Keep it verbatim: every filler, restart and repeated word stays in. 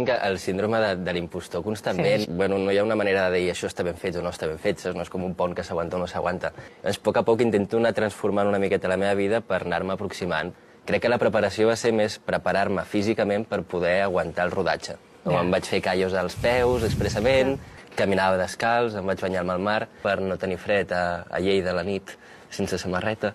Tinc el síndrome de, de l'impostor constantment. Sí. Bueno, no hi ha una manera de dir això està ben fet o no està ben fet, no és com un pont que s'aguanta o no s'aguanta. Llavors, a poc a poc intento anar transformant una miqueta la meva vida per anar-me aproximant. Crec que la preparació va ser més preparar-me físicament per poder aguantar el rodatge. No, yeah. Em vaig fer callos als peus expressament, yeah. Caminava descalç, em vaig banyar al mar per no tenir fred a, a Lleida a la nit sense samarreta.